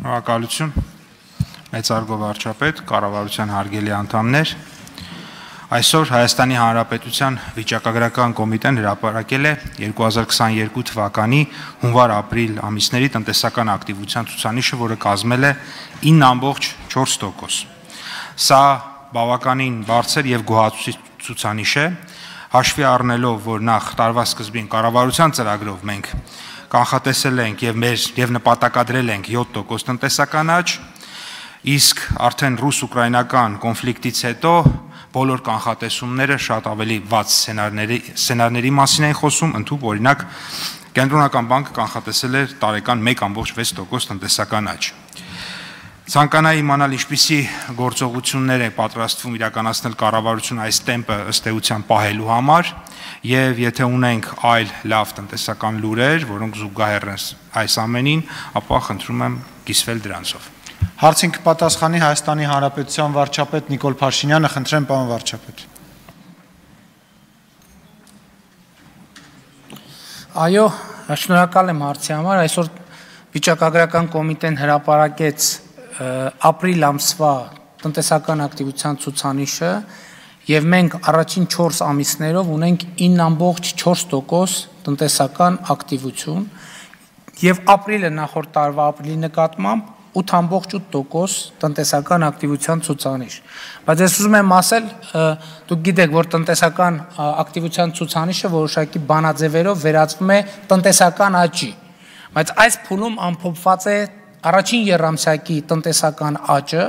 Շնորհակալություն, մեծարգո վարչապետ, կառավարության հարգելի անդամներ։ Այսօր Հայաստանի Հանրապետության վիճակագրական կոմիտեն հրապարակել է 2022 թվականի հունվար-ապրիլ ամիսների տնտեսական ակտիվության ցուցանիշը, որը կազմել է 9.4%։ Սա բավականին բարձր եւ գոհացուցիչ ցուցանիշ է, հաշվի առնելով, որ նախ տարվա սկզբին կառավարության ծրագրով մենք կանխատեսել ենք եւ նպատակադրել ենք 7% տնտեսական աճ, իսկ արդեն ռուս-ուկրաինական կոնֆլիկտից հետո բոլոր կանխատեսումները շատ ավելի վատ սցենարների մասին են խոսում, ընդհանուր օրինակ Կենտրոնական բանկը կանխատեսել էր տարեկան 1.6% տնտեսական աճ։ Ցանկանայի իմանալ ինչպիսի գործողություններ է պատրաստվում իրականացնել կառավարությունը այս տեմպը ըստ էության պահելու համար, եւ եթե ունենք այլ լավ տնտեսական լուրեր, որոնք զուգահեռ են այս ամենին, ապա խնդրում եմ կիսվել դրանցով։ Հարցին կպատասխանի Հայաստանի Հանրապետության վարչապետ Նիկոլ Փաշինյանը, խնդրեմ պարոն վարչապետ։ Այո, շնորհակալ եմ հարցի համար, այսօր վիճակագրական կոմիտեն հրապարակեց ապրիլ ամսվա տնտեսական ակտիվության ցուցանիշը եւ մենք առաջին 4 ամիսներով ունենք 9.4% տնտեսական ակտիվություն եւ ապրիլը նախորդ տարվա ապրիլի նկատմամբ 8.8% տնտեսական ակտիվության ցուցանիշ։ Բայց ես ուզում եմ ասել, դուք գիտեք, որ տնտեսական ակտիվության ցուցանիշը որոշակի բանաձևերով վերածվում է տնտեսական աճի, բայց այս փուլում ամփոփված է առաջին եռամսյակի տնտեսական աճը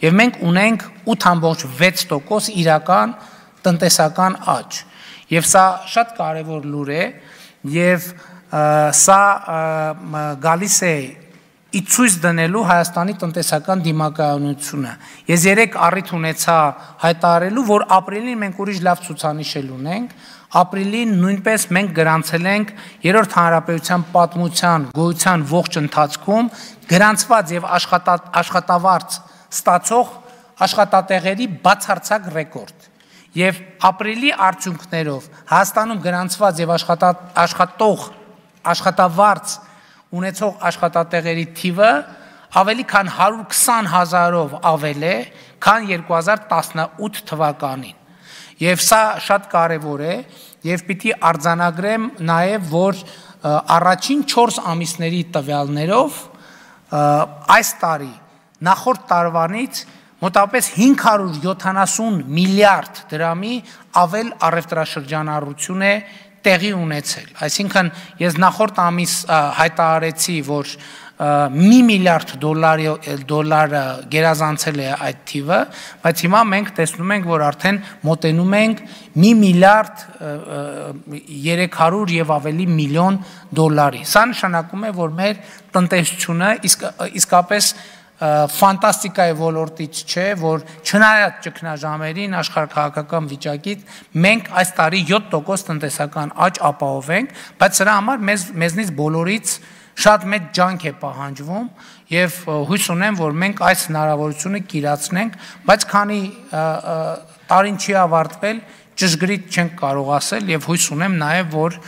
եւ մենք ունենք 8.6% իրական տնտեսական աճ։ Եվ սա շատ կարևոր լուր է եւ սա գալիս է ի ցույց դնելու Հայաստանի տնտեսական դիմակայունությունը։ Ես երեք առիթ ունեցա հայտարարելու, որ ապրիլին մենք ուրիշ լավ ցուցանիշ ունենք, ապրիլին նույնպես մենք գրանցել ենք երրորդ հանրապետության պատմության գոյության ողջ ընթացքում գրանցված եւ աշխատավարձ ստացող աշխատատեղերի բացարձակ ռեկորդ։ Եվ ապրիլի արդյունքներով Հայաստանում գրանցված եւ աշխատավարձ ունեցող աշխատատեղերի թիվը ավելի քան 120,000-ով ավել է, քան 2018 թվականին։ Եվ սա շատ կարևոր է եւ պիտի արձանագրեմ նաեւ, որ առաջին 4 ամիսների տվյալներով այս տարի նախորդ տարվանից մոտավորապես 570 միլիարդ դրամի ավել առևտրաշրջանառություն է տեղի ունեցել։ Այսինքն ես նախորդ ամիս հայտարարեցի, որ $1 միլիարդ դոլարը գերազանցել է այդ թիվը, բայց հիմա մենք տեսնում ենք, որ արդեն մոտենում ենք $1 միլիարդ 300 եւ ավելի միլիոն դոլարի։ Սա նշանակում է, որ մեր տնտեսությունը իսկապես ֆանտաստիկայի ոլորտից չէ, որ չնայած ճգնաժամերին, աշխարհաքաղաքական վիճակից մենք այս տարի 7% տնտեսական աճ ապահովենք, բայց սրա համար մեզնից բոլորից շատ մեծ ջանք է պահանջվում եւ հույս ունեմ, որ մենք այս հնարավորությունը կիրացնենք, բայց քանի տարին չի ավարտվել, ճշգրիտ չենք կարող ասել եւ հույս ունեմ նաեւ, որ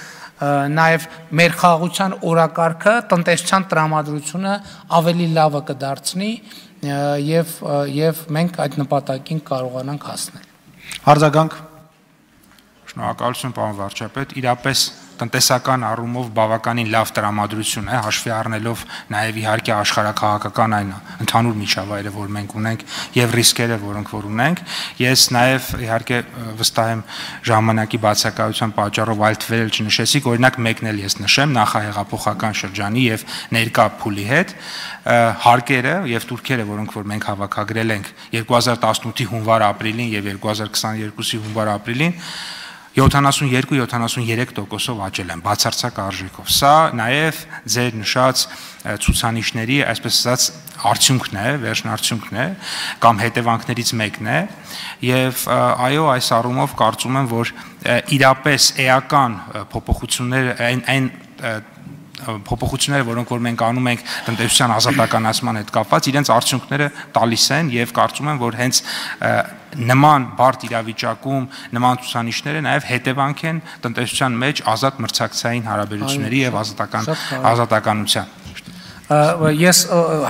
նաև մեր խաղաղության օրակարգը տնտեսության տրամադրությունը ավելի լավը կդարձնի եւ մենք այդ նպատակին կարողանանք հասնել։ Արձագանք։ Շնորհակալություն, պարոն վարչապետ, իրապես տնտեսական առումով բավականին լավ տրամադրություն է, հաշվի առնելով նաև իհարկե աշխարհաքաղաքական այն ընդհանուր միջավայրը, որ մենք ունենք եւ ռիսկերը, որոնք որ ունենք։ Ես նաև իհարկե վստահ եմ ժամանակի բացակայության պատճառով այլ թվեր չնշեցիք, օրինակ մեկն էլ ես նշեմ նախահեղափոխական շրջանի եւ ներկա փուլի հետ հարկերը եւ տուրքերը, որոնք որ մենք հավաքագրել ենք 2018-ի հունվար-ապրիլին եւ 2022-ի հունվար-ապրիլին 72-73%-ով աճել են բացարձակ արժեքով։ Սա նաև ձեր նշած ցուցանիշների, այսպես ասած, արդյունքն է, վերջնարդյունքն է, կամ հետևանքներից մեկն է, եւ այո, այս առումով կարծում եմ, որ իրապես էական փոփոխություններ այն փոփոխությունները, որոնք որ մենք անում ենք տնտեսության ազատականացման հետ կապված, իրենց արդյունքները տալիս են եւ կարծում եմ, որ հենց նման բարդ իրավիճակում նման ցուցանիշները նաև հետևանք են տնտեսության մեջ ազատ մրցակցային հարաբերությունների եւ ազատականության։ Ես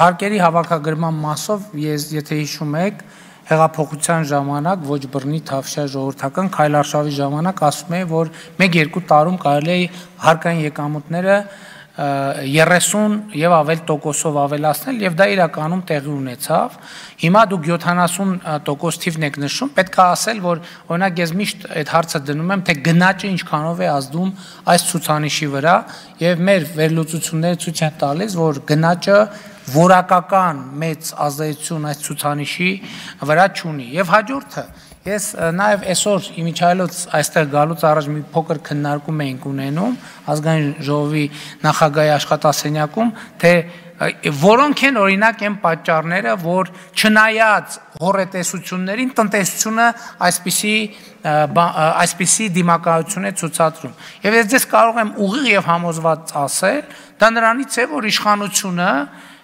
հարկերի հավաքագրման մասով, եթե հիշում եք, հեղափոխության ժամանակ ոչ բռնի թավշյա ժողովրդական քայլարշավի ժամանակ ասում էի, որ 1-2 տարում կարելի է հարկային եկամուտները 30 եւ ավել տոկոսով ավելացնել եւ դա իրականում տեղի ունեցավ։ Հիմա դուք 70% թիվն եք նշում, պետք է ասել, որ օրինակ ես միշտ այդ հարցը դնում եմ, թե գնաճը ինչքանով է ազդում այս ցուցանիշի վրա եւ մեր վերլուծությունները ցույց են տալիս, որ գնաճը որակական մեծ ազդեցություն այս ցուցանիշի վրա չունի։ Եվ հաջորդը ես նաև այսօր իմիջայլոց այստեղ գալուց առաջ մի փոքր քննարկում էինք ունենում ազգային ժողովի նախագահի աշխատասենյակում, թե որոնք են օրինակ այն պատճառները, որ չնայած հոռետեսություններին տնտեսությունը այսպիսի դիմակայություն է ցուցադրում։ Եվ ես ձեզ կարող եմ ուղիղ եւ համոզված ասել, դա նրանից է, որ իշխանությունը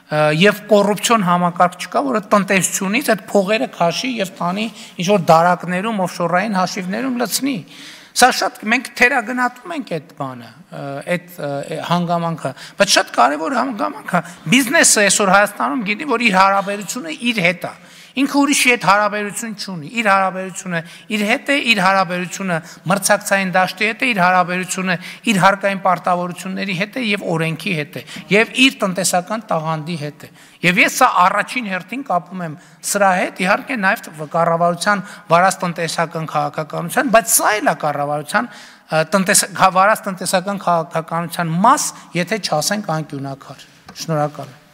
եւ կոռուպցիոն համակարգ չկա, որը տնտեսությունից այդ փողերը քաշի եւ տանի ինչ որ դարակներում, օֆշորային հաշիվներում լցնի։ Սա շատ մենք թերագնահատում ենք այդ բանը, այդ հանգամանքը, բայց շատ կարևոր հանգամանք է։ Բիզնեսը այսօր Հայաստանում գիտի, որ իր հարաբերությունը իր հետ է։ Ինքը ուրիշի հետ հարաբերություն չունի, իր հարաբերությունը իր հետ է, իր հարաբերությունը մրցակցային դաշտի հետ է, իր հարաբերությունը իր հարկային պարտավորությունների հետ է եւ օրենքի հետ է, եւ իր տնտեսական տաղանդի հետ է։ Եվ ես սա առաջին հերթին կապում եմ սրա հետ, իհարկե նաեւ կառավարության վարած տնտեսական քաղաքականության, բայց սա էլ է կառավարության վարած տնտեսական քաղաքականության մաս, եթե չասենք անկյունակար։ Շնորհակալ եմ։